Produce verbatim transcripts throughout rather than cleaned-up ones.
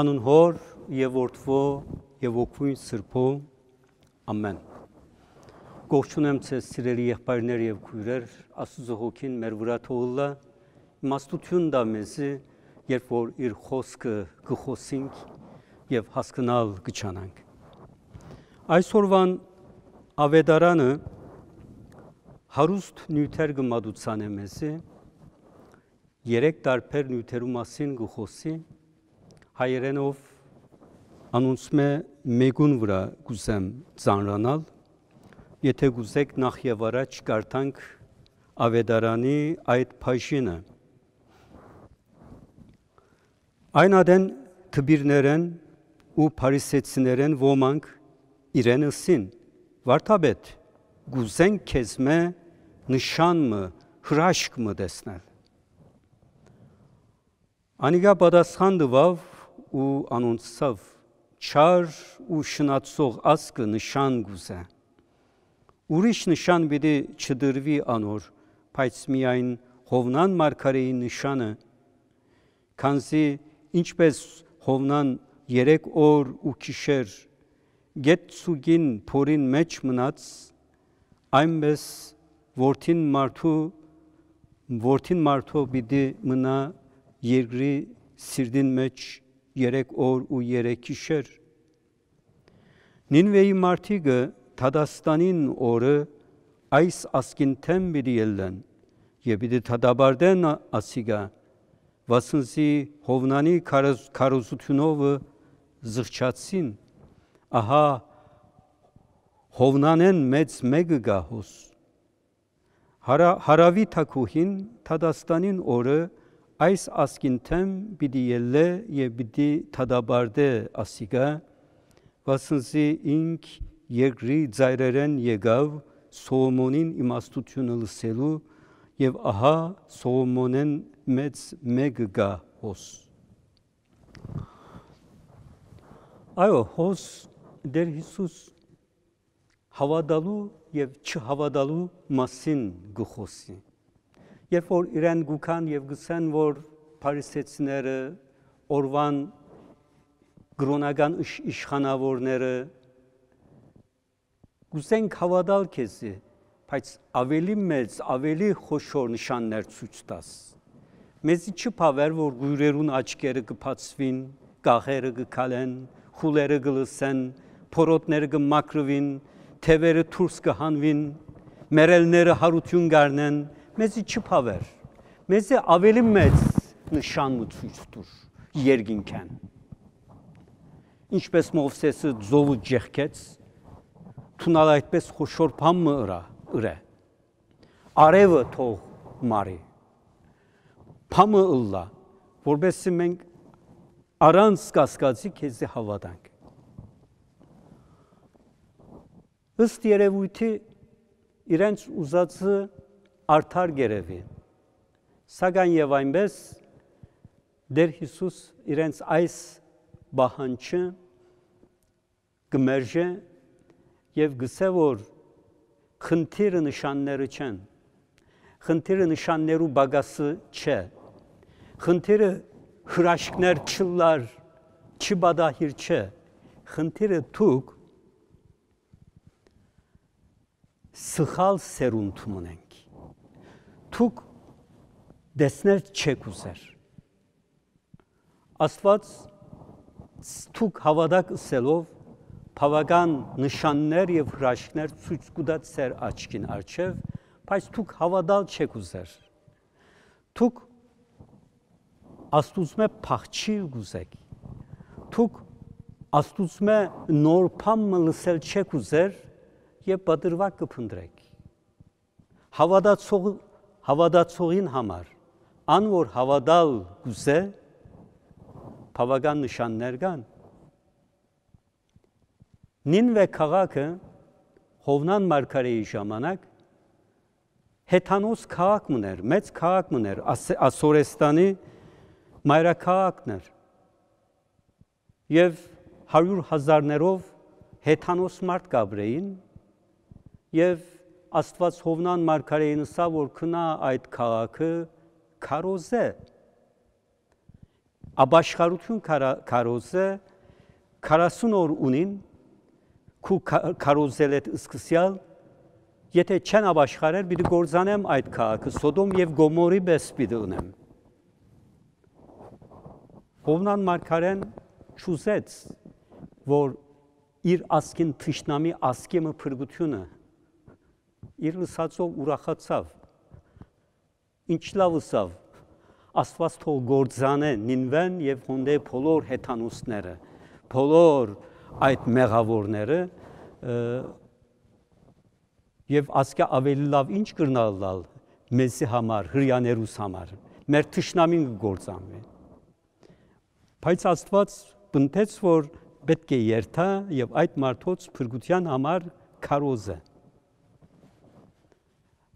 Անուն Հօր եւ Որդւոյ եւ Ոգւոյն Սրբոյ։ Ամեն։ Կողջունեմ ձեզ, սիրելի եղբայրներ եւ քոյրեր, Աստուծոյ հոգին մեր վրայ թող ըլլայ, իմաստութիւն տայ մեզի, երբ որ իր խօսքը կը խօսինք եւ հասկնալ կը չանանք։ Այսօրուան աւետարանը հարուստ նիւթեր կը մատուցանէ մեզի, երեք տարբեր նիւթերու մասին կը խօսի, հայերէնով անոնցմէ մէկուն վրայ կ'ուզեմ ծանրանալ, եթէ կ'ուզէք նախ եւ առաջ կարդանք աւետարանի այդ բաժինը։ Այն ատեն դպիրներէն ու փարիսեցիներէն ոմանք իրեն ըսին. «Վարդապետ, կ'ուզենք քեզմէ նշան մը, հրաշք մը տեսնել»։ Անիկա պատասխան տուաւ ու անոնց ըսաւ. «Չար ու շնացող ազգը նշան կ'ուզէ։ Ուրիշ նշան պիտի չտրուի անոր, բայց միայն Յովնան մարգարէին նշանը, քանզի ինչպէս Յովնան երեք օր ու գիշեր գետ ցուկին փորին մէջ մնաց, այնպէս որդին մարդու, որդին մարդոյ պիտի մնայ երկրի սիրտին մէջ երեք օր ու երեք գիշեր»։ Նինուէի մարդիկը դատաստանին օրը այս ազգին դէմ պիտի ելլեն եւ պիտի դատապարտեն ասիկա, վասն զի Յովնանի քարոզ-, քարոզութիւնովը զղջացին, ահա Յովնանէն մեծ մէկը կայ հոս։ Հարա-, հարաւի թագուհին դատաստանին օրը այս ազգին դէմ պիտի ելլէ եւ պիտի դատապարտէ ասիկա, վասն զի ինք երկրի ծայրերէն եկաւ Սողոմոնին իմաստութիւնը լսելու, եւ ահա Սողոմոնէն մեծ մէկը կայ հոս։ Այո, հոս Տէր Յիսուս հաւատալու եւ չհաւատալու մասին կը խօսի։ Երբ որ իրեն կու գան եւ կ'ըսեն, որ փարիսեցիները, օրուան կրօնական իշխ-, իշխանաւորները, «Կ'ուզենք հաւատալ քեզի, բայց աւելի մեծ, աւելի խոշոր նշաններ ցոյց տաս»։ Մեզի չի բաւեր, որ կոյրերուն աչքերը կը բացուին, կաղերը կը քալեն, խուլերը կը լսեն, փորոտները կը մաքրուին, թեւերը դուրս կը հանուին, մեռելները յարութիւն կ'առնեն, մեզի չի բաւեր։ Մեզի աւելի մեծ նշան մը ցոյց տուր երկինքէն։ Ինչպէս Մովսէսը ծովը ճեղքեց, դուն ալ այդպէս խոշոր բան մը ըրա, ըրէ։ Արեւը թող մարի, բան մը ըլլայ, որպեսզի մենք առանց կասկածի քեզի հաւատանք։ Ըստ երեւոյթի իրենց ուզածը արդար կ'երեւի, սակայն եւ այնպէս Տէր Յիսուս իրենց այս պահանջը կը մերժէ եւ կ'ըսէ, որ խնդիրը նշանները չեն, խնդիրը նշաններու պակասը չէ, խնդիրը հրաշքներ չըլլար, չպատահիր չէ, խնդիրը դուք սխալ սերունդ մըն էք։ Դուք տեսնել չեք ուզեր։ Աստուած դուք հաւատաք ըսելով բաւական նշաններ եւ հրաշքներ ցոյց կու տայ ձեր աչքին առջեւ, բայց դուք հաւատալ չեք ուզեր։ Դուք Աստուծմէ փախչիլ կ'ուզէք։ Դուք Աստուծմէ նոր բան մը լսել չեք ուզեր եւ պատրուակ կը փնտռէք։ Հաւատացող-, հաւատացողին համար, ան որ հաւատալ կ'ուզէ, բաւական նշաններ կան։ Նինուէ քաղաքը Յովնան մարգարէի ժամանակ հեթանոս քաղաք մըն էր, մեծ քաղաք մըն էր, Աս-, Ասորեստանի մայրաքաղաքն էր։ Եւ հարիւր հազարներով հեթանոս մարդ կ'ապրէին, եւ Աստուած Յովնան մարգարէին ըսաւ, որ գնայ այդ քաղաքը քարոզէ, Ապաշխարութիւն քարա-, քարոզը քառասուն օր ունին, քու քա-, քարոզելէդ սկսեալ, եթէ չեն ապաշխարեր, պիտի կործանեմ այդ քաղաքը, Սոդոմ եւ Գոմորի պէս պիտի ընեմ։ Յովնան մարգարէն չուզեց, որ իր ազգին թշնամի ազգի մը փրկութիւնը, իր լսածով ուրախացաւ։ Ինչ լաւ ըսաւ, Աստուած թող կործանէ Նինուէն եւ հոն դէ բոլոր հեթանոսները, բոլոր այդ մեղաւորները, ը, եւ ասկէ աւելի լաւ ինչ կրնար ըլլալ մեզի համար, հրեաներուս համար, մեր թշնամին կը կործանուի։ Բայց Աստուած պնդեց, որ պէտք է երթայ եւ այդ մարդոց փրկութեան համար քարոզէ։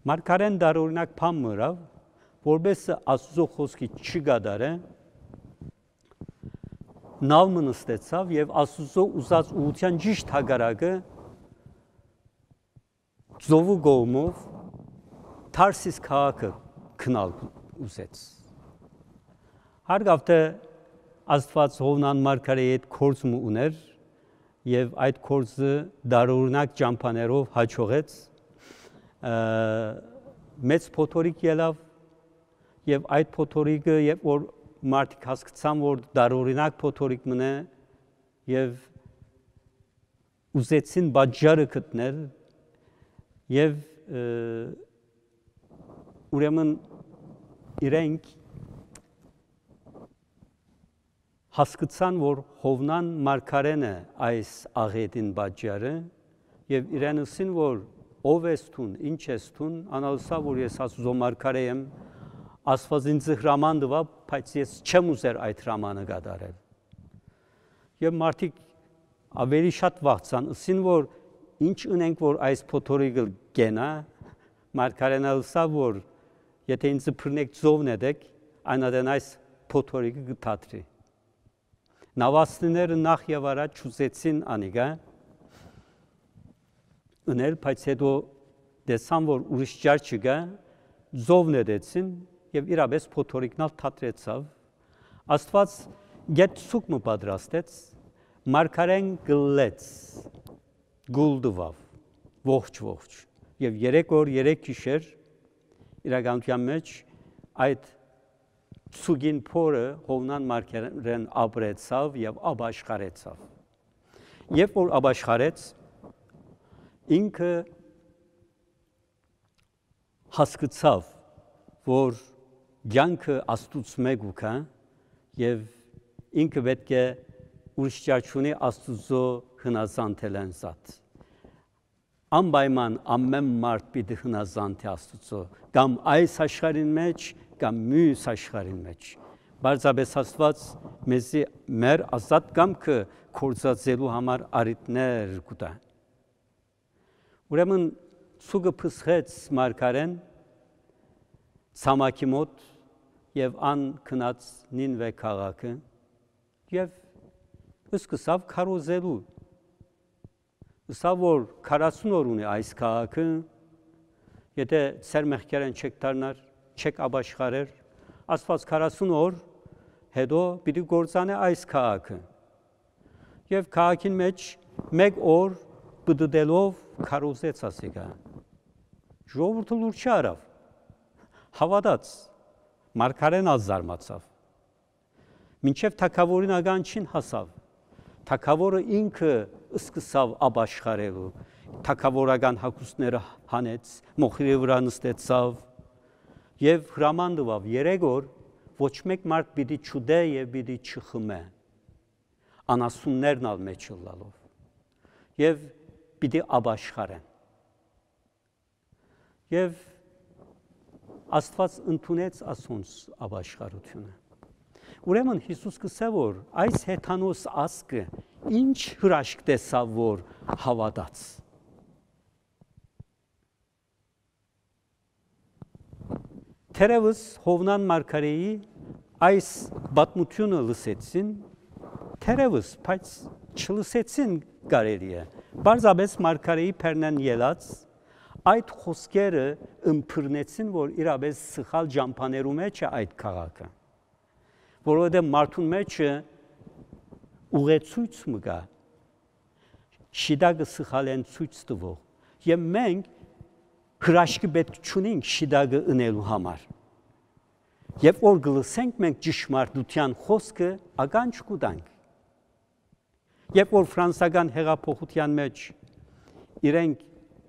Մարգարէն տարօրինակ բան մը ըրաւ, որպէս Աստուծոյ խօսքը չի կատարէ, նալ մը նստեցաւ եւ Աստուծոյ ուզած ուղղութեան ճիշդ հակառակը ծովու կողմով Թարսիս քաղաքը գնալ ուզեց։ Հարգաւ թէ Աստուած Յովնան մարգարէի հետ գործ մը ունէր եւ այդ գործը տարօրինակ ճամբաներով յաջողեց, ը, մեծ փոթորիկ ելաւ եւ այդ փոթորիկը, երբ որ մարդիկ հասկցան, որ տարօրինակ փոթորիկ մըն է եւ ուզեցին պատճառը գտնել եւ, ը, ուրեմն իրենք հասկցան, որ Յովնան մարգարէն է այս աղէտին պատճառը եւ իրեն ըսին, որ «Ո՞վ ես դուն, ի՞նչ ես դուն»։ Ան ալ ըսաւ, որ «Ես Աստուծոյ մարգարէ եմ, Աստուած ինձ հրաման տուաւ, բայց ես չեմ ուզեր այդ հրամանը կատարել»։ Եւ մարդիկ աւելի շատ վախցան, ըսին, որ «Ի՞նչ ընենք, որ այս փոթորիկը կենայ»։ Մարգարէն ալ ըսաւ, որ «Եթէ ինձ բռնէք, ծովն ետեք, այն ատեն այս փոթորիկը կը դադրի»։ Նաւաստիները նախ եւ առաջ չուզեցին անիկա ընել, բայց հետո տեսան, որ ուրիշ ճար չկայ, ծովն ետեցին եւ իրապէս փոթորիկն ալ դադրեցաւ։ Աստուած գետ սուգ մը պատրաստեց, մարգարէն կլլեց, կուլ տուաւ, ողջ, ողջ։ Եւ երեք օր, երեք գիշեր իրականութեան մէջ այդ սուգին փորը Յովնան մարգարէն ապրեցաւ եւ ապաշխարեցաւ։ Երբ որ ապաշխարեց, ինքը հասկցաւ, որ կեանքը Աստուծմէ կու գայ եւ ինքը պէտք է ուրիշ ճար չունի Աստուծոյ հնազանդելէն զատ։ Անպայման ամէն մարդ պիտի հնազանդի Աստուծոյ, կամ այս աշխարհին մէջ, կամ միւս աշխարհին մէջ։ Պարզապէս Աստուած մեզի մեր ազատ կամքը գործածելու համար առիթներ կու տայ։ Ուրեմն սուգը փսխեց մարգարէն ցամաքի մօտ եւ ան գնաց Նինուէ քաղաքը եւ սկսաւ քարոզելու։ Ըսաւ, որ քառասուն օր ունի այս քաղաքը, եթէ ձեր մեղքերէն չեք դառնար, չեք ապաշխարեր, Աստուած քառասուն օր հետո պիտի կործանէ այս քաղաքը։ Եւ քաղաքին մէջ մէկ օր պտտելով քարոզեց ասիկա։ Ժողովուրդը լուր չառաւ, հաւատաց, մարգարէն ալ զարմացաւ։ Մինչեւ թագաւորին ականջին հասաւ։ Թագաւորը ինքը սկսաւ ապաշխարելու, թագաւորական հագուստները հանեց, մոխիրի վրայ նստեցաւ եւ հրաման տուաւ. «Երեք օր ոչ մէկ մարդ պիտի չուտէ եւ պիտի չխմէ, անասուններն ալ մէջ ըլլալով, եւ պիտի ապաշխարեն»։ Եւ Աստուած ընդունեց ասոնց ապաշխարութիւնը։ Ուրեմն Յիսուս կ'ըսէ, որ այս հեթանոս ազգը ինչ հրաշք տեսաւ, որ հաւատաց։ Թերեւս Յովնան մարգարէի այս պատմութիւնը լսեցին, թերեւս, բայց չլսեցին կարելի է։ Պարզապէս մարգարէի բեռնէն ելած այդ խօսքերը ըմբռնեցին, որ իրապէս սխալ ճամբաներու մէջ է այդ քաղաքը, որովհետեւ մարդուն մէջը ուղեցոյց մը կայ, շիտակը սխալէն ցոյց տուող, եւ մենք հրաշքը պէտք չունինք շիտակը ընելու համար։ Երբ որ կը լսենք մենք ճշմարտութեան խօսքը, ականջ կու տանք։ Երբ որ ֆրանսական հեղափոխութեան մէջ իրենք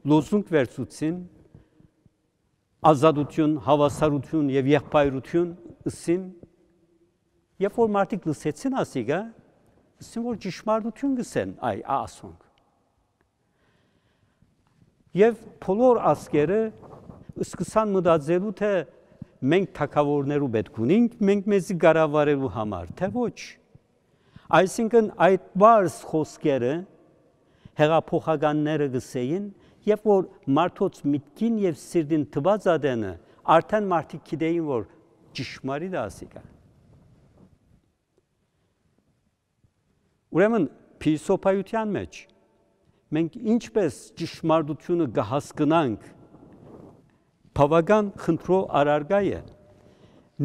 լոզունգ վերցուցին, ազատութիւն, հաւասարութիւն եւ եղբայրութիւն ըսին, երբ որ մարդիկ լսեցին ասիկա, ըսին որ ճշմարտութիւն կ'ըսեն այ ասոնք։ Եւ բոլոր ազգերը սկսան մտածելու, թէ մենք թագաւորներու պէտք ունինք, մենք մեզի կառավարելու համար, թէ ոչ։ Այսինքն այդ պարզ խօսքերը հեղափոխականները կ'ըսէին, երբ որ մարդոց միտքին եւ սիրտին տուած ատենը, արդեն մարդիկ գիտէին որ ճշմարիտ է ասիկա։ Ուրեմն, փիլիսոփայութեան մէջ մենք ինչպէս ճշմարտութիւնը կը հասկնանք, բաւական խնդրոյ առարկայ է,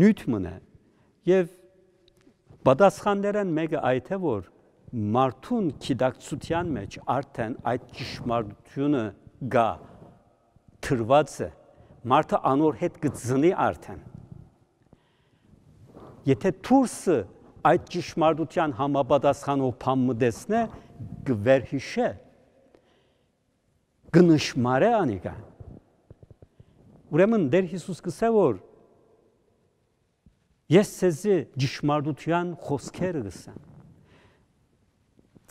նիւթ մըն է, եւ պատասխաններէն մէկը այդ է, որ մարդուն գիտակցութեան մէջ արդեն այդ ճշմարտութիւնը կա, դրուած է, մարդը անոր հետ կը ծնի արդեն։ Եթէ դուրսը այդ ճշմարտութեան համապատասխանող բան մը տեսնէ, կը վերհիշէ, կը նշմարէ անիկա։ Ուրեմն Տէր Յիսուս կ'ըսէ որ ես ձեզի ճշմարտութեան խօսքերը կ'ըսեմ։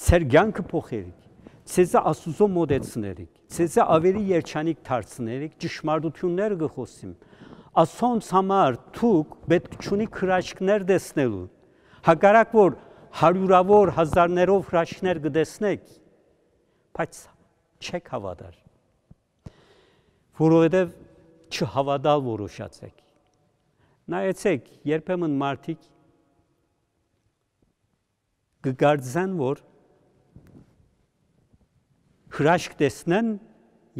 Ձեր կեանքը փոխերիք, ձեզի Աստուծոյ մօտեցներիք, ձեզի աւելի երջանիկ դարձներիք, ճշմարտութիւնները կը խօսիմ։ Ասոնց համար դուք պէտք չունիք հրաշքներ տեսնելու, հակառակ որ հարիւրաւոր հազարներով հրաշքներ կը տեսնէք, բայց չեք հաւատար, որովհետեւ չհաւատալ որոշած եք։ Նայեցեք, երբեմն մարդիկ կը կարծեն որ հրաշք տեսնեն,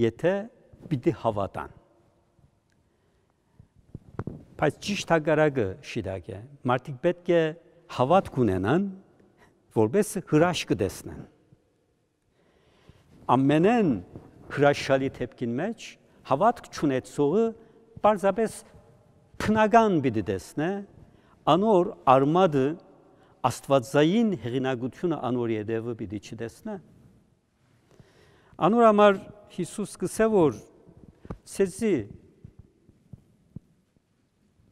եթէ պիտի հաւատան։ Բայց ճիշդ հակառակը շիտակ է։ Մարդիկ պէտք է հաւատք ունենան, որպէս հրաշքը տեսնեն։ Ամենէն հրաշալի դէպքին մէջ հաւատք չունեցողը պարզապէս բնական պիտի տեսնէ, անոր արմատը, աստուածային հեղինակութիւնը անոր ետեւը պիտի չտեսնէ։ Անոր համար Յիսուս կ'ըսէ որ ձեզի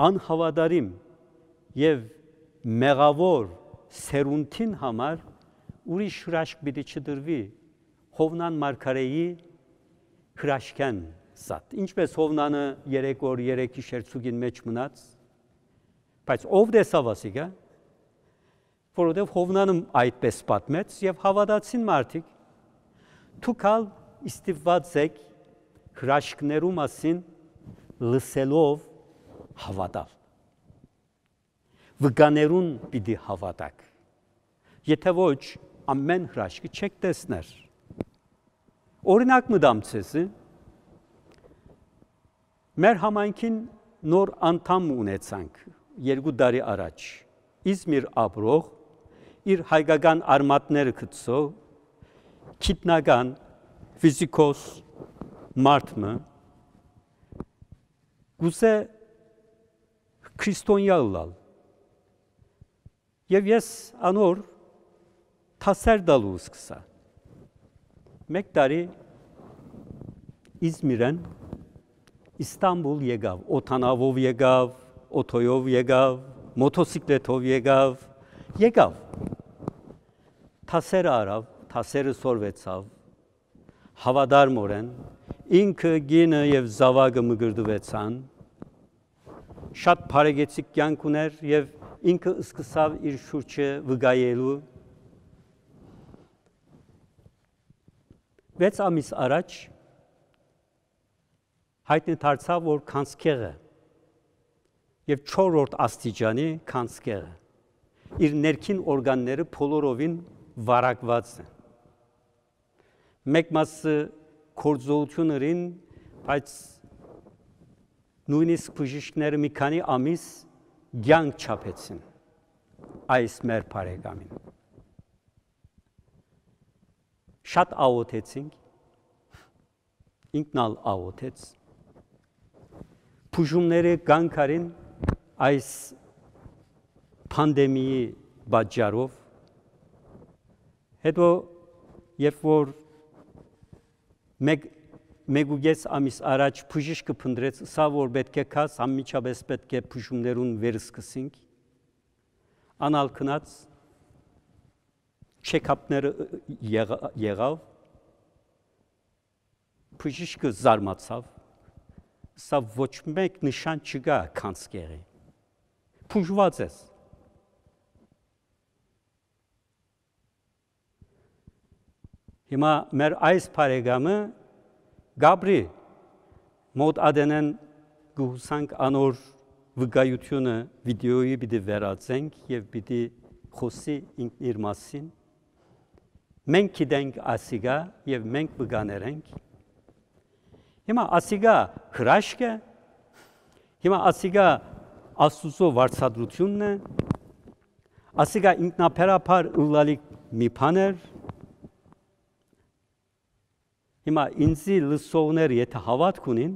անհաւատարիմ եւ մեղաւոր սերունդին համար ուրիշ հրաշք պիտի չտրուի Յովնան մարգարէի հրաշքէն զատ։ Ինչպէս Յովնանը երեք օր, երեք գիշեր ցուկին մէջ մնաց, բայց ո՞վ տեսաւ ասիկա, որովհետեւ Յովնանը այդպէս պատմեց եւ հաւատացին մարդիկ։ Դուք ալ ստիպուած էք հրաշքներու մասին լսելով հաւատալ։ Վկաներուն պիտի հաւատաք։ Եթէ ոչ, ամեն հրաշքը չեք տեսներ։ Օրինակ մը տամ ձեզի, մեր համայնքին նոր անդամ ունեցանք երկու տարի առաջ, Իզմիր ապրող, իր հայկական արմատները գցող, գիտնական, ֆիզիկոս մարդ մը, կ'ուզէ քրիստոնեայ ըլլալ։ Եւ ես անոր դասեր տալու սկսա։ Մէկ տարի Իզմիրէն Իստանպուլ եկաւ, օդանաւով եկաւ, օթոյով եկաւ, մոթոսիկլեթով եկաւ, եկաւ։ Դասերը առաւ, դասերը սորվեցաւ, հաւատարմօրէն, ինքը, կինը եւ զաւակը մկրտուեցան, շատ բարեկեցիկ կեանք ունէր եւ ինքը սկսաւ իր շուրջը վկայելու։ Վեց ամիս առաջ հայտնի դարձաւ որ գանձքեղ է եւ չորրորդ աստիճանի գանձքեղ է։ Իր ներքին օրգանները բոլորովին վարակուած են։ Մէկ մասը գործողութիւն ըրին, բայց նոյնիսկ բժիշկները մի քանի ամիս կեանք չափեցին։ այս մեր բարեկամին։ Շատ աղօթեցինք, ինքն ալ աղօթեց։ Բուժումները կանգ առին այս պանդեմիի պատճառով։ Հետո, երբ որ մեկ, մեկ ու կես ամիս առաջ բժիշկը փնտռեց, ըսաւ որ պէտք է գաս, անմիջապէս պէտք է բուժումներուն վերսկսենք, ան ալ գնաց, չեքափները եղա-, եղաւ, բժիշկը զարմացաւ, ըսաւ, ոչ մէկ նշան չկայ գանձկեղի։ Բուժուած ես։ Հիմա մեր այս բարեկամը կ'ապրի, մօտ ատենէն կը յուսանք անոր վկայութիւնը վիդէոյի պիտի վերածենք եւ պիտի խօսի ինքն իր մասին։ Մենք գիտենք ասիկա եւ մենք վկաներ ենք։ Հիմա ասիկա հրաշք է, հիմա ասիկա Աստուծոյ վարձատրութիւնն է, ասիկա ինքնաբերաբար ըլլալիք մի բան էր։ Հիմա ինձի լսողներ եթէ հաւատք ունին,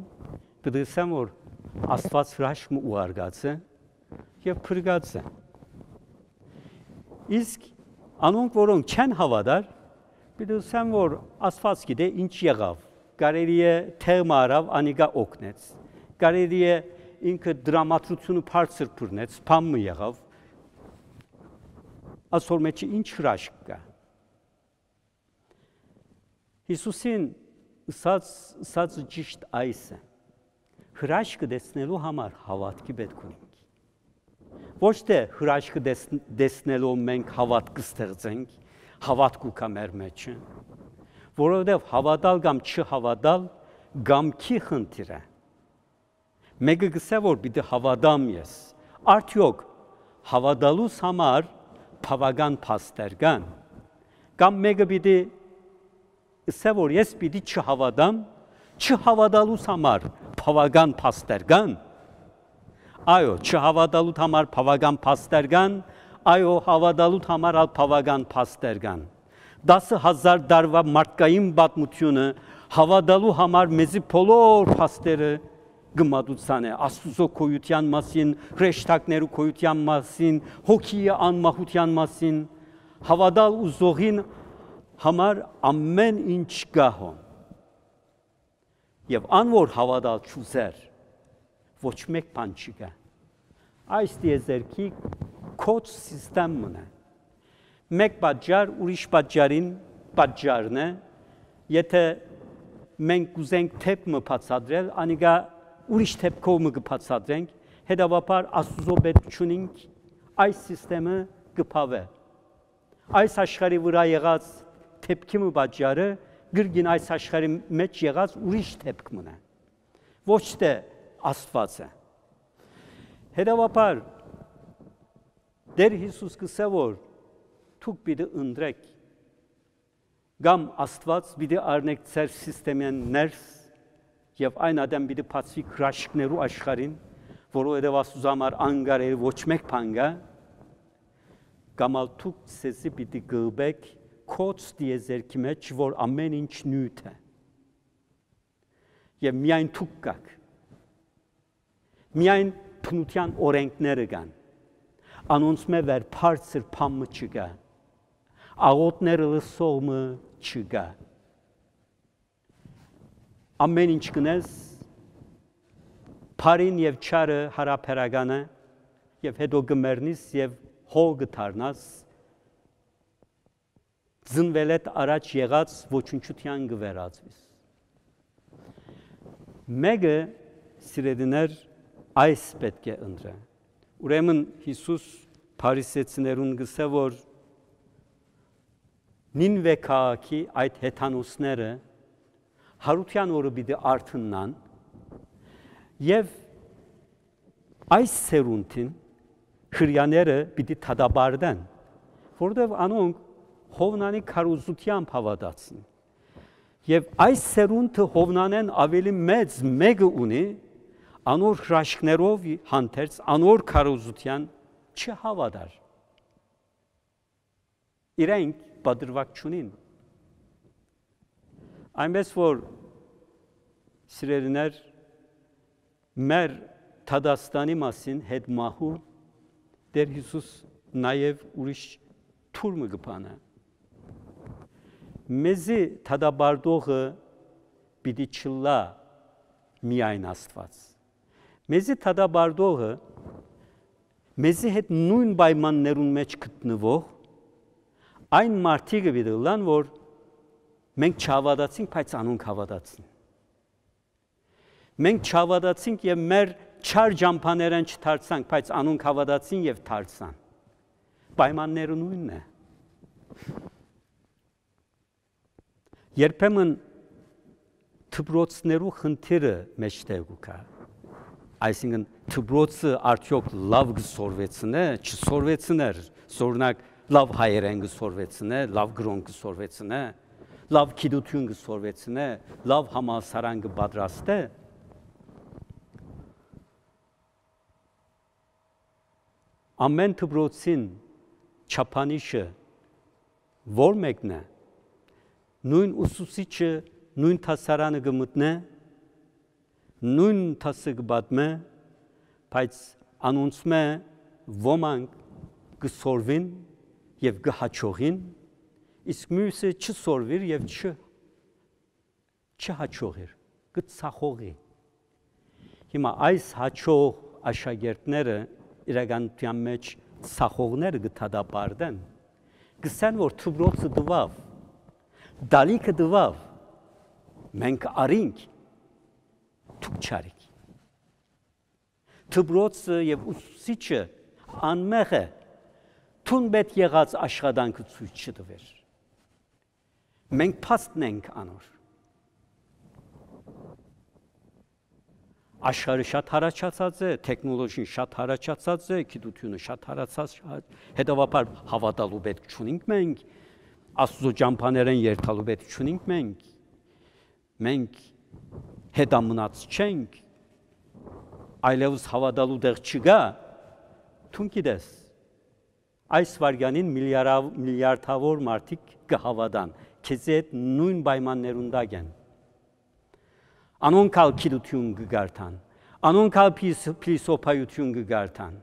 պիտի ըսեմ որ Աստուած հրաշք մը ուղարկած է եւ փրկած է։ Իսկ անոնք, որոնք չեն հաւատար, պիտի ըսեմ որ Աստուած գիտէ ինչ եղաւ, կարելի է թեւ մը առաւ, անիկա օգնեց, կարելի է ինքը դրամատրութիւնը բարձր բռնեց, բան մը եղաւ, ասոր մեջ ինչ հրաշք կայ։ Յիսուսին ըսած, ըսածը ճիշտ այս է։ Հրաշքը տեսնելու համար հաւատքի պէտք ունենք։ Ոչ թէ հրաշքը տես-, տեսնելով մենք հաւատք կը ստեղծենք, հաւատք կու գայ մեր մեջը, որովհետեւ հաւատալ կամ չհաւատալ կամքի խնդիր է։ Մէկը կ'ըսէ որ պիտի հաւատամ ես։ Արդեօք հաւատալուս համար բաւական փաստեր կան։ Կամ մէկը պիտի ըսէ որ ես պիտի չհաւատամ, չհաւատալուս համար բաւական փաստեր կան։ Այո, չհաւատալուտ համար բաւական փաստեր կան, այո, հաւատալուտ համար ալ բաւական փաստեր կան։ Տասը հազար տարուայ մարդկային պատմութիւնը հաւատալու համար մեզի բոլոր փաստերը կը մատուցանէ, Աստուծոյ գոյութեան մասին, հրեշտակներու գոյութեան մասին, հոգիի անմահութեան մասին, հաւատալ ուզողին համար ամէն ինչ կայ հոն։ Եւ ան որ հաւատալ չուզեր, ոչ մէկ բան չկայ։ Այս տիեզերքի կոչ սիստեմ մը է։ Մէկ պատճառ ուրիշ պատճառին պատճառն է, եթէ մենք կ'ուզենք դէպք մը բացատրել, անիկա ուրիշ դէպքով մը կը բացատրենք, հետեւաբար Աստուծոյ պէտք չունինք, այս սիստեմը կը բաւէ։ Այս աշխարհի վրայ եղած դէպքի մը պատճառը կրկին այս աշխարհի մեջ եղած ուրիշ դէպք մը է, ոչ թէ Աստուած է։ Հետեւաբար Տէր Յիսուս կ'ըսէ որ դուք պիտի ընտրեք, կամ Աստուած պիտի առնեք ձեր սիստեմէն ներս եւ այն ատեն պիտի բացուի հրաշքներու աշխարհին, որովհետեւ Աստուծոյ համար անկարելի ոչ մէկ բան կայ, կամ ալ դուք ձեզի պիտի կլպեք կոչ տիեզերքի մեջ, որ ամէն ինչ նիւթ է։ Եւ միայն դուք կաք։ Միայն բնութեան օրենքները կան։ Անոնցմէ վեր բարձր բան մը չկայ։ Աղօթքները լսող մը չկայ։ Ամէն ինչ կ'ընես, բարին եւ չարը յարաբերական է, եւ հետո կը մեռնիս եւ հոլ կը դառնաս, ծնուելէդ առաջ եղած ոչնչութեան կը վերածուիս։ Մէկը, սիրելիներ, այս պէտք է ընտրէ։ Ուրեմն Յիսուս փարիսեցիներուն կ'ըսէ որ Նինուէ քաղաքի այդ հեթանոսները յարութեան օրը պիտի արթննան եւ այս սերունդին Հրեաները պիտի դատապարտեն, որովհետեւ անոնք Յովնանի քարոզութեամբ հաւատացին։ Եւ այս սերունդը Յովնանէն աւելի մեծ մէկը ունի, անոր հրաշքներով հանդերձ, անոր քարոզութեան չհաւատար։ իրենք պատրուակ չունին։ Այնպես որ, սիրելիներ, մեր դատաստանի մասին, հետ մահու, Տէր Յիսուս նաեւ ուրիշ թուր մը կը բանայ։ Մեզի դատապարտողը պիտի չըլլայ միայն Աստուած։ Մեզի դատապարտողը, մեզի հետ նոյն պայմաններուն մէջ գտնուող այն մարդիկը պիտի ըլլան, որ մենք չհաւատացինք, բայց անոնք հաւատացին։ Մենք չհաւատացինք եւ մեր չար ճամբաներէն չդարձանք, բայց անոնք հաւատացին եւ դարձան։ Պայմանները նոյնն է։ Երբեմն դպրոցներու խնդիրը մէջտեղ կու գայ։ Այսինքն, դպրոցը արդեօք լաւ կը սորվեցնէ, չսորվեցներ, օրինակ, լաւ հայերէն կը սորվեցնէ, լաւ կրօն կը սորվեցնէ, լաւ գիտութիւն կը սորվեցնէ, լաւ համալսարան կը պատրաստէ։ Ամէն դպրոցին չափանիշը ո՞ր մէկն է։ Նոյն ուսուցիչը նոյն դասարանը կը մտնէ, նոյն դասը կը պատմէ, բայց անոնցմէ ոմանք կը սորվին եւ կը յաջողին, իսկ միւսը չսորվիր եւ չ-, չյաջողիր, կը ծախողի։ Հիմա այս յաջող աշակերտները իրականութեան մէջ ծախողները կը դատապարտեն, կ'ըսեն, որ դպրոցը տուաւ, տալիքը տուաւ, մենք առինք, դուք չարիք։ Դպրոցը եւ ուսուցիչը անմեղ է, դուն պէտք եղած աշխատանքը ցոյց չտուեր։ Մենք փաստն ենք անոր։ Աշխարհը շատ յառաջացած է, թեքնոլոգին շատ յառաջացած է, գիտութիւնը շատ յառաջացած, հետեւաբար հաւատալու պէտք չունինք մենք, Աստուծոյ ճամբաներէն երթալու պէտք չունինք մենք։ Մենք հետամնաց չենք, այլեւս հաւատալու տեղ չկայ, դուն գիտես, այս վայրկեանին միլիարա-, միլիարդաւոր մարդիկ կը հաւատան, քեզի հետ նոյն պայմաններուն տակ են։ Անոնք ալ գիտութիւն կը կարդան, անոնք ալ փիլիս-, փիլիսոփայութիւն կը կարդան,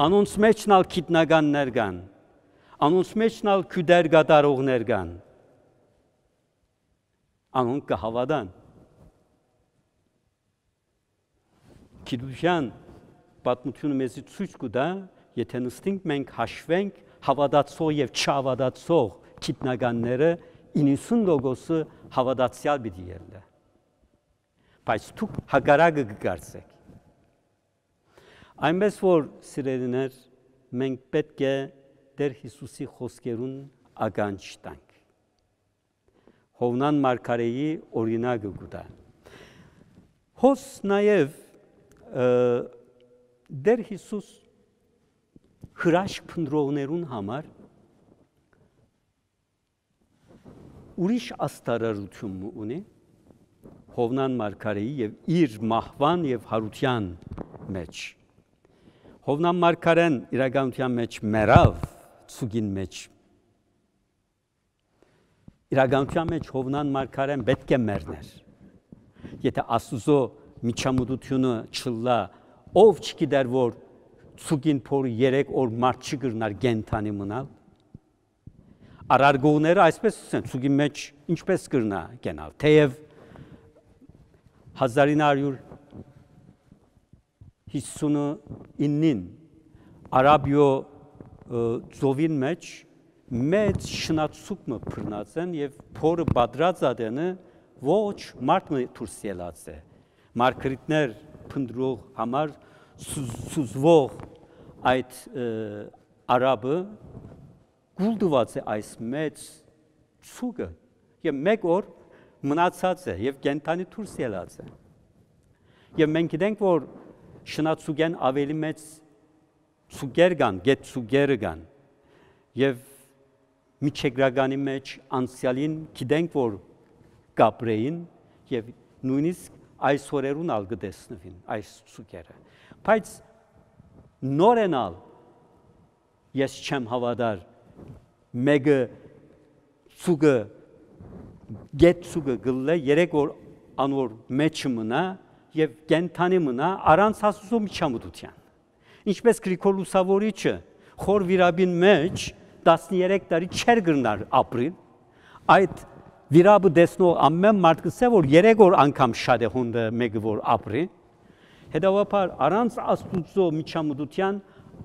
անոնց մէջն ալ գիտնականներ կան, անոնց մէջն ալ գիւտեր կատարողներ կան, անոնք կը հաւատան։ Գիտութեան պատմութիւնը մեզի ցոյց կու տայ, եթէ նստինք մենք հաշուենք հաւատացող եւ չհաւատացող գիտնականները, իննսուն տոկոսը հաւատացեալ պիտի ելլէ։ Բայց դուք հակառակը կը կարծէք։ Այնպես որ, սիրելիներ, մենք պէտք է Տէր Յիսուսի խօսքերուն ականջ տանք։ Յովնան մարգարէի օրինակը կու տայ։ Հոս նաեւ, ը, Տէր Յիսուս հրաշք փնտռողներուն համար ուրիշ աստարարութիւն մը ունի Յովնան մարգարէի եւ իր մահուան եւ յարութեան մէջ։ Յովնան մարգարէն իրականութեան մէջ մեռաւ, ցուկին մէջ։ Իրականութեան մէջ Յովնան մարգարէն պէտք է մեռներ։ Եթէ Աստուծոյ միջամտութիւնը չըլլայ, ով չգիտեր որ ցուկին փորը երեք օր մարդ չի կրնար կենդանի մնալ։ Առարկողները այսպես ըսեն, ցուկի մէջ ինչպես կրնայ կենալ, թէեւ հազար ինը հարիւր հիսունինին Արաբիոյ, ը, ծովին մէջ մեծ շնացուկ մը բռնած են եւ փորը պատրած ատենը ոչ մարդ մը դուրս ելած է։ Մարգարիտներ փնտռող համար սուզ-, սուզվող այդ, ը, արաբը կուլ տուած է այս մեծ ցուկը եւ մէկ օր մնացած է եւ կենդանի դուրս ելած է։ Եւ մենք գիտենք, որ շնացուկէն աւելի մեծ ցուկեր կան, գետ ցուկերը կան եւ միջերկրականի մէջ անցեալին գիտենք, որ կապրէին եւ նոյնիսկ այս օրերուն ալ կը տեսնուին այս ցուկերը։ Բայց նորէն ալ ես չեմ հաւատար Մէկը ծուկը, գետ ծուկը կ'ըլլայ, երեք օր անոր մէջը մնայ եւ կենդանի մնայ առանց Աստուծոյ միջամտութեան։ Ինչպէս Գրիգոր Լուսաւորիչը խոր վիրապին մէջ տասներեք տարի չէր կրնար ապրիլ, այդ վիրապը տեսնող ամէն մարդ կ'ըսէ, որ երեք օր անգամ շատ է հոն մէկը որ ապրի։ Հետեւաբար, առանց Աստուծոյ միջամտութեան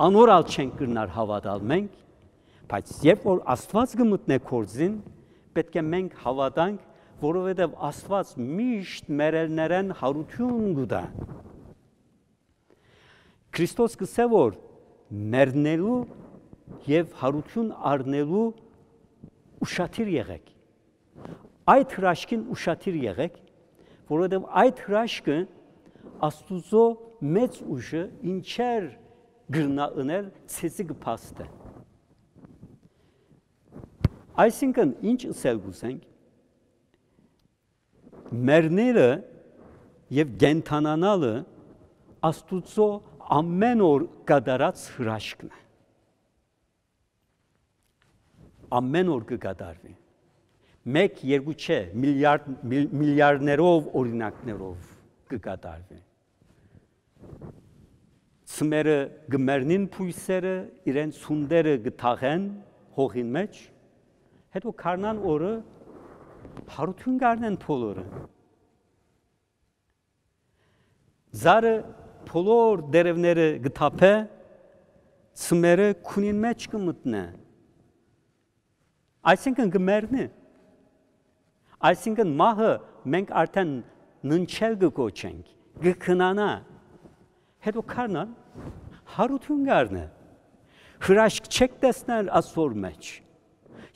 անոր ալ չենք կրնար հաւատալ մենք, բայց երբ որ Աստուած կը մտնէ գործին, պէտք է մենք հաւատանք, որովհետեւ Աստուած միշտ մեռելներէն յարութիւն կու տայ։ Քրիստոս կ'ըսէ, որ մեռնելու եւ յարութիւն առնելու ուշադիր եղէք։ Այդ հրաշքին ուշադիր եղէք, որովհետեւ այդ հրաշքը Աստուծոյ մեծ ուժը ինչեր կրնայ ընել, ձեզի կը փաստէ։ Այսինքն, ինչ ըսել կ'ուզենք, մեռնելը եւ կենդանանալը Աստուծոյ ամէն օր կատարած հրաշքն է։ Ամէն օր կը կատարուի։ Մէկ, երկու չէ, միլիարդ, միլ-, միլիարդներով օրինակներով կը կատարուի։ Ծմերը կը մեռնին, բոյսերը իրենց հունտերը կը թաղեն հողին մէջ, հետո քարնան օրը յարութիւն կ'առնեն բոլորը։ Ծառը բոլոր տերեւները կը թափէ, ծմերը քունին մէջ կը մտնէ։ Այսինքն կը մեռնի։ Այսինքն մահը մենք արդեն ննջել կը կոչենք, կը քնանայ։ Հետո քարնան յարութիւն կ'առնէ։ Հրաշք չեք տեսներ ասոր մէջ։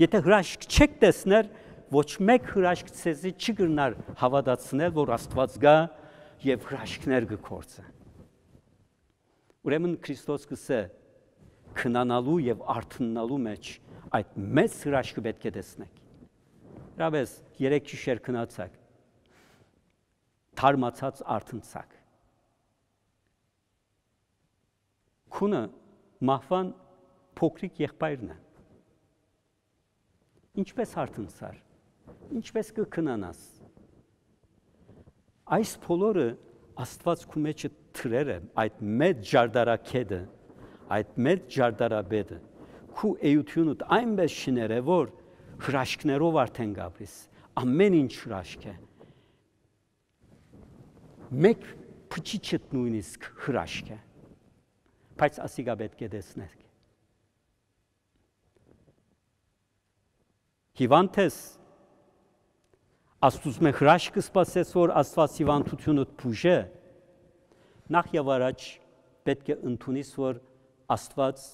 Եթէ հրաշք չեք տեսներ, ոչ մէկ հրաշք ձեզի չի կրնար հաւատացնել, որ Աստուած կայ եւ հրաշքներ կը գործէ։ Ուրեմն Քրիստոս կ'ըսէ, քնանալու եւ արթննալու մէջ այդ մեծ հրաշքը պէտք է տեսնեք։ Իրապէս, երեկ գիշեր քնացաք, թարմացած արթնցաք։ Քունը մահուան փոքրիկ եղբայրն է։ Ինչպէս արթնցար, ինչպէս կը քնանաս։ Այս բոլորը Աստուած քու մէջը դրեր է, այդ մեծ ճարտարագետը, այդ մեծ ճարտարապետը, քու էութիւնդ այնպէս շիներ է, որ հրաշքներով արդեն կ'ապրիս, ամէն ինչ հրաշք է։ Մէկ փչիչդ նոյնիսկ հրաշք է, բայց ասիկա պէտք է տեսնեք։ Հիվանդ ես, Աստուծմէ հրաշք կը սպասես, որ Աստուած հիվանդութիւնդ բուժէ, նախ եւ առաջ պէտք է ընդունիս, որ Աստուած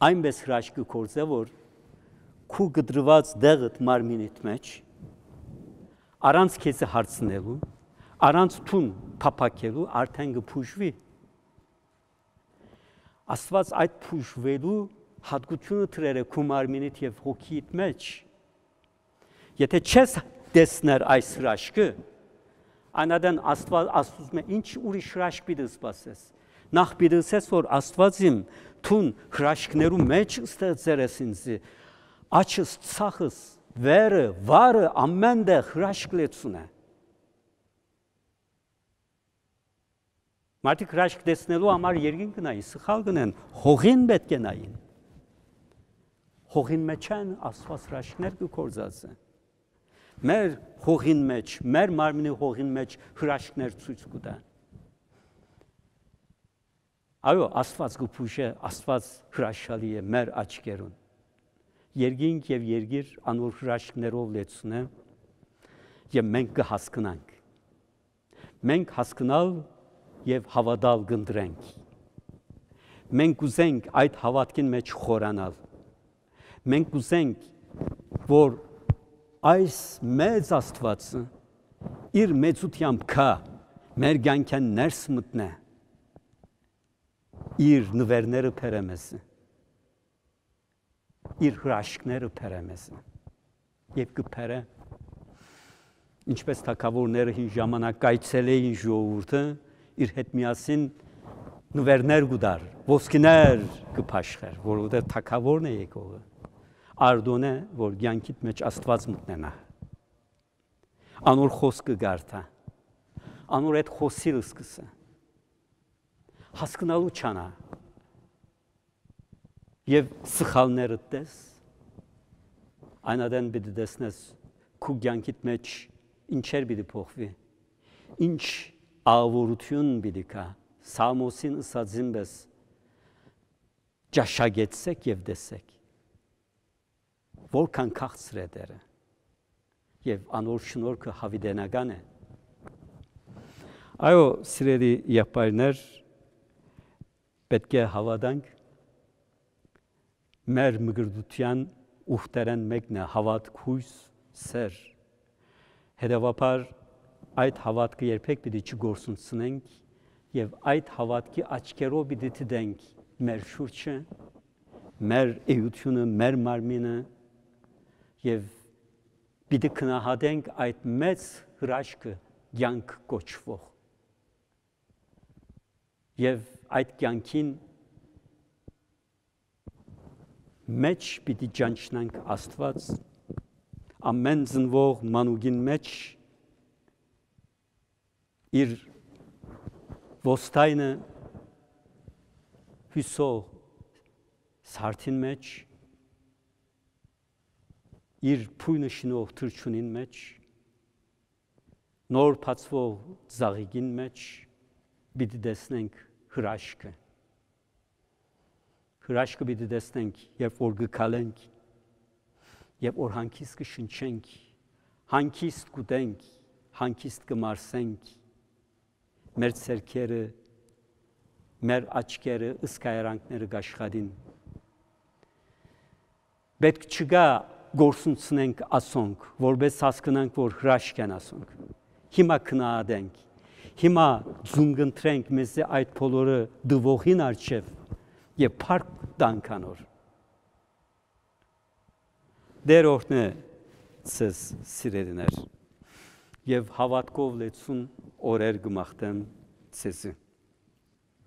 այնպէս հրաշք կը գործէ, որ քու կտրուած տեղդ մարմինիդ մէջ, առանց քեզի հարցնելու, առանց դուն փափաքելու, արդեն կը բուժուի։ Աստուած այդ բուժուելու յատկությունը դրեր է քու մարմինիդ եւ հոգիիդ մէջ։ Եթէ չես տեսներ այս հրաշքը, այն ատեն Աստուած, Աստուծմէ ինչ ուրիշ հրաշք պիտի սպասես։ Նախ պիտի ըսես, որ Աստուած իմ, դուն հրաշքներու մէջ ստեղծեր ես ինձի, աչս, ցախս, վերը, վարը, ամէն տեղ հրաշք լեցուն է։ Մարդիկ հրաշք տեսնելու համար երկին կը նային, սխալ կ'ընեն, հողին պէտք է նային։ Հողին մէջ են Աստուած հրաշքներ կը գործածը։ Մեր հողին մէջ, մեր մարմնի հողին մէջ հրաշքներ ցոյց կու տան։ Այո, Աստուած կը բուժէ, Աստուած հրաշալի է մեր աչքերուն։ Երկինք եւ երկիր անոր հրաշքներով լեցուն է եւ մենք կը հասկնանք։ Մենք հասկնալ եւ հաւատալ կ'ընտրենք։ Մենք կ'ուզենք այդ հաւատքին մէջ խորանալ։ Մենք կ'ուզենք, որ այս մեծ Աստուածը իր մեծութեամբ գայ, մեր կյանքէն ներս մտնէ, իր նուէրները բերէ մեզի, իր հրաշքները բերէ մեզի։ Եւ կը բերէ, ինչպէս թագաւորները հին ժամանակ կ'այցելէին ժողովուրդը, իր հետ միասին նուէրներ կու տար, ոսկիներ կը բաշխեր, որովհետեւ թագաւորն է եկողը։ Արտոնէ, որ կեանքիդ մէջ Աստուած մտնենայ։ Անոր խօսքը կարդայ, անոր հետ խօսիլ սկսայ, հասկնալու չանայ եւ սխալներդ տես, այն ատեն պիտի տեսնես քու կեանքիդ մէջ ինչեր պիտի փոխուի, ինչ աղաւորութիւն պիտի գայ։ Սաղմոսին ըսածին պէս, ճաշակեցէք եւ տեսէք, որքան քաղցր է Տէրը, եւ անոր շնորհքը յաւիտենական է։ Այո, սիրելի եղբայրներ, պէտք է հաւատանք, մեր մկրտութեան ուխտերէն մէկն է հաւատք, յոյս, սէր։ Հետեւաբար, այդ հաւատքը երբեք պիտի չկորսնցնենք եւ այդ հաւատքի աչքերով պիտի դիտենք մեր շուրջը, մեր էութիւնը, մեր մարմինը եւ պիտի գնահատենք այդ մեծ հրաշքը կեանք կոչուող։ Եւ այդ կեանքին մէջ պիտի ճանչնանք Աստուած, ամէն ծնուող մանուկին մէջ, իր ոստայնը յուսող սարդին մէջ, իր բոյնը շինող թռչունին մէջ, նոր բացուող ծաղիկին մէջ պիտի տեսնենք հրաշքը։ Հրաշքը պիտի տեսնենք, երբ որ կը քալենք, երբ որ հանգիստ կը շնչենք, հանգիստ կ'ուտենք, հանգիստ կը մարսենք, մեր ձեռքերը, մեր աչքերը, ըսկայարանքները կ'աշխատին։ Պէտք չկայ կորսնցնենք ասոնք, որպէս հասկնանք, որ հրաշք են ասոնք։ Հիմա քննադենք, հիմա ծունկընտրենք մեզի այդ բոլորը տուողին առջեւ եւ փառք տանք անոր։ Տէր օրհնէ ձեզ, սիրելիներ, եւ հաւատքով լեցուն օրեր կը մաղթեմ ձեզի։